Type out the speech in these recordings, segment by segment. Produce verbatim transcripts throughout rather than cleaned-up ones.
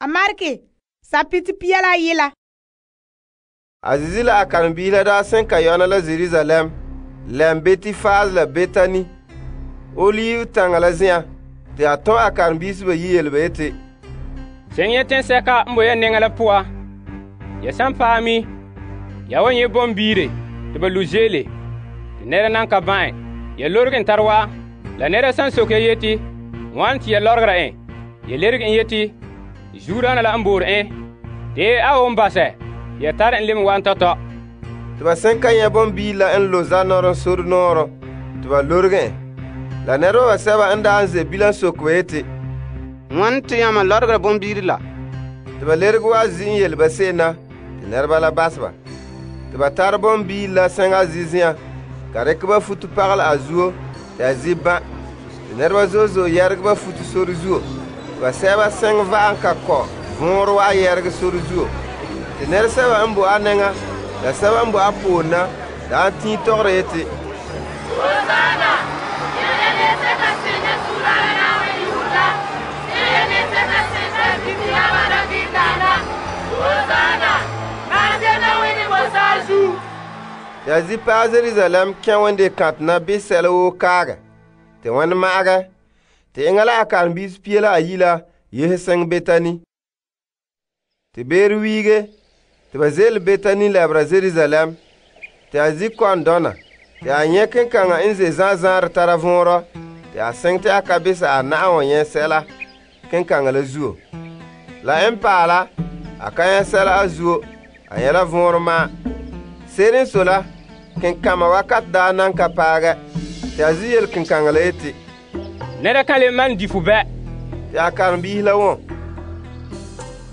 A Marke, sapite pia la yela. A zizi la a karen-biisi la daa sen ka yɔna la Jerusalem, lɛm Betifaz la Betani, Olive taŋa la zen'an, te a tɔn a karen-biisi bayi yele ba yeti, Seŋ ya teŋsɛka n bo ya nɛŋa la poan. Ya san paɛ mi, ya wan nyɛ bombiire te ba lu' zeele, te nɛra nan ka ban'ɛ. Ya lorege en tare wa, la nɛra san soke ya yeti, wane te ya lɔregera en? Ya lerege en yeti, zuodaana la n boore en, te a won basɛ, ya tare en leme wa tɔtɔ. Te ba sen ka nyɛ bombiiri la n lo zanɔɔrɔ sore nɔɔrɔ te ba lorege en. La nɛreba basɛba n daa n ze bilam soke ba yeti, ŋwane te yãmba lɔregera bombiiri la? Te ba lerege wa zi' n yele ba se'em na te nɛreba la bas ba. Te ba tare bombiiri la sɛŋa zi' zi'an, ka rekɛ ba futo pagalɛ a zuo te a zi ban'. Te nɛreba zo'e zo'e yɛregɛ ba futo sore zuo. Te ba sɛba sɛŋ va'am ka kɔ vɔɔrɔ wa yɛregɛ sore zuo. Te nɛresɛba n bo a nɛŋa la sɛba n bo a poore na daa tiin tɔgɔra yeti, Hosanna! Yele ne se ka sene sura na we yuda. Yele ne se ka sene bibiya wa da bidana. Hosanna! Kaze na we ni bosazu. Ya zi paɛ Jerusalem kẽ wẽnde kãtɛ na bɩ sɛla woo kaagɛ tɩ wẽnd ma'agɛ tɩ eŋa la a karen-biisi pia la ayi la yese sɛŋ Betani. Tɩ beere wiige tɩ ba zeele Betani lɛbera Jerusalem tɩ a zi kɔn dɔna tɩ a nyɛ kenkaŋa n ze zãa-zãarɛ tara võorɔ tɩ a sɛŋ tɩ a ka bisa a na'an wa nyɛ sɛla kenkaŋa la zuo. La n paala a ka nyɛ sɛla a zuo, a nyɛ la võorɔ ma'an. Se'ere n sɔe la, kenkama wakat daa nan ka paagɛ tɩ a zi yele kenkaŋa la yeti, Nɛra kan le man di fu bɛ. tɩ a karen-biisi la wõ.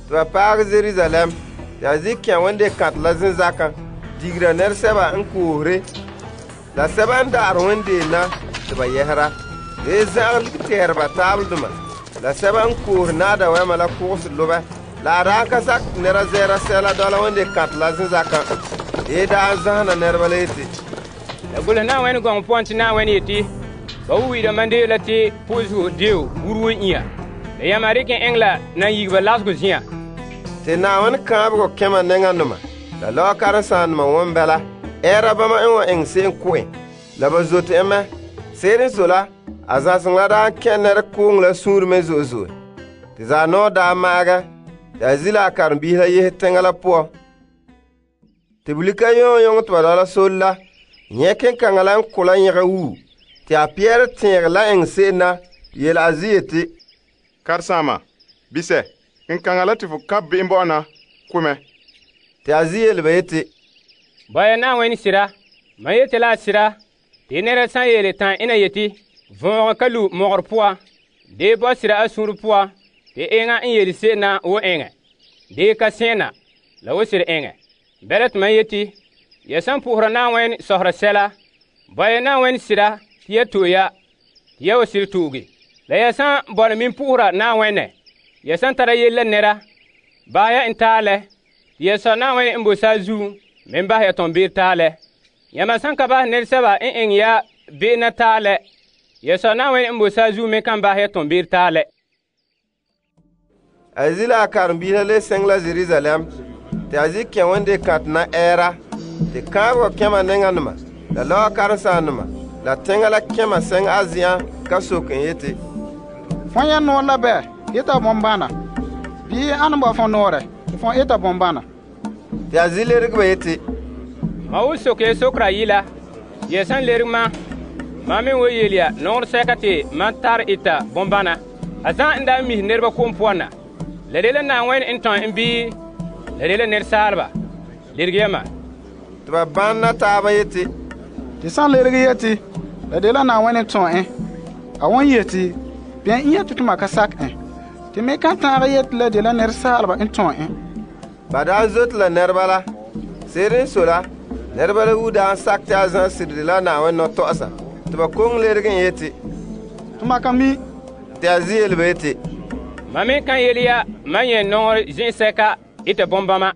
Tɩ ba paagɛ Jerusalem tɩ a zi kẽ wẽnde kãtɛ la zenzakã digra nɛresɛba n koosre la sɛba n daarɛ wẽndeen na tɩ ba yɛsera. Dee zãgɛ ligɛ tɛɛre ba taabeldoma la sɛba n koosre naada wɛma la kʋgse lobɛ. La a daa ka sak tɩ nɛra zɛɛra sɛla dɔla wẽnde kãtɛ la zenzakã. Dee daa zãsena nɛreba la yeti, La gulh na wẽn gɔŋ pʋgẽ tɩ na wẽn yeti, ba wi'ira mandeo la tɩ pʋʋsgo deo wurwo ĩa. La yãmba rɩk n eŋɛ la nan yigba lasgo zĩã. tɩ Naawãn kãabegɔ kẽma nɛŋanoma la lawa karen-sãandema wõn bɛla ɛɛra bãmba n wa iŋɛ se'em kʋ en la ba zote en mɛ. Se'ere n sɔe la, a zãseŋ la daa kẽ nɛrekooŋ la sũur me zo'e zo'e. Tɩ zaanɔɔ daa ma'agɛ tɩ a zi la a karen-biisi la yese teŋa la poan. Tɩ bulika yõng-yõng tɩ ba dɔla sore la nyɛ kenkaŋa la n kʋ la yẽgɛ wuu tɩ a pɛɛre tẽeg la eŋɛ se'em na yele a zi yeti, Karen-saamba, bisɛ, kenkaŋa la tɩ fo kap be'em bɔ'ɔna kʋ mɛ. tɩ a zi yele ba yeti, Bɔya na wẽn sɩda, mam yete la a sɩda, tɩ nɛra sã n yeele tã ẽna yeti, võogẽ ka lu mogor poa, dee bɔ sɩda a sũur poa, tɩ eŋa n yele se'em na wo eŋɛ, dee ka sẽena, la wo sɩd eŋɛ. Bɛla tɩ mam yeti, ya sãn pʋʋsra Naawãen sɔsrɛ sɛla, bɔya Naawãen sɩda tɩ ya to'e ya, tɩ ya wa sɩd to'oge. La ya sãn bɔna min pʋʋsra Naawãenɛ, ya sãn tara yell la nɛra, basɛ ya n taalɛ, tɩ ya sɔ Naawãen n bo saazuum me basɛ ya tõn beer taalɛ. Yãmba sãn ka basɛ nɛresɛba n eŋɛ ya be'ena taalɛ, ya sɔ Naawãen n bo saazuum me kan basɛ ya tõn beer taalɛ. A zi la a karen-biisi la le sɛŋ la Jerusalem tɩ a zi kẽ wẽnde kãtɛ na ɛɛra tɩ kãabegɔ kẽma nɛŋanema la lawa karen-sãandema la tẽŋa la kẽma sɛŋ a zɩãn ka sok n yeti, Fõn ya noor la bɛ eta bõn-bãna, bii ãn ba fõ noorɛ tɩ fõ eta bõn-bãna? tɩ a zi lerg ba yeti, Ma wo sok ya sokra yɩla, ya sãn lerg ma, mam me wo yel ya nogr sɛka tɩ mam tar eta bõn-bãna. A zã n daa mis nɛreba kom poan na, la de la Naawãen n tõe n bii la de la nɛresaalba. Lerg yamã. tɩ ba bãnna taaba yeti, Tɩ sã n lerg yeti, la de la Naawãen n tõe ẽ, a wõn yeti, bɩa n yeti tɩ ma ka sak ẽ, tɩ me ka tãag yeti la de la nɛresaalba n tõe ẽ. ba daa zote la nɛreba la. Se'ere n sɔe la, nɛreba la wu daa n sak tɩ a zã sɩdde la Naawãen nɔ-tɔ'ɔsa tɩ ba kong lerg n yeti, Tɩ ma ka mi. tɩ a zi yele ba yeti, Mam me kan yel ya mam yẽ nogr zĩ'sɛka eta bõn-bãma.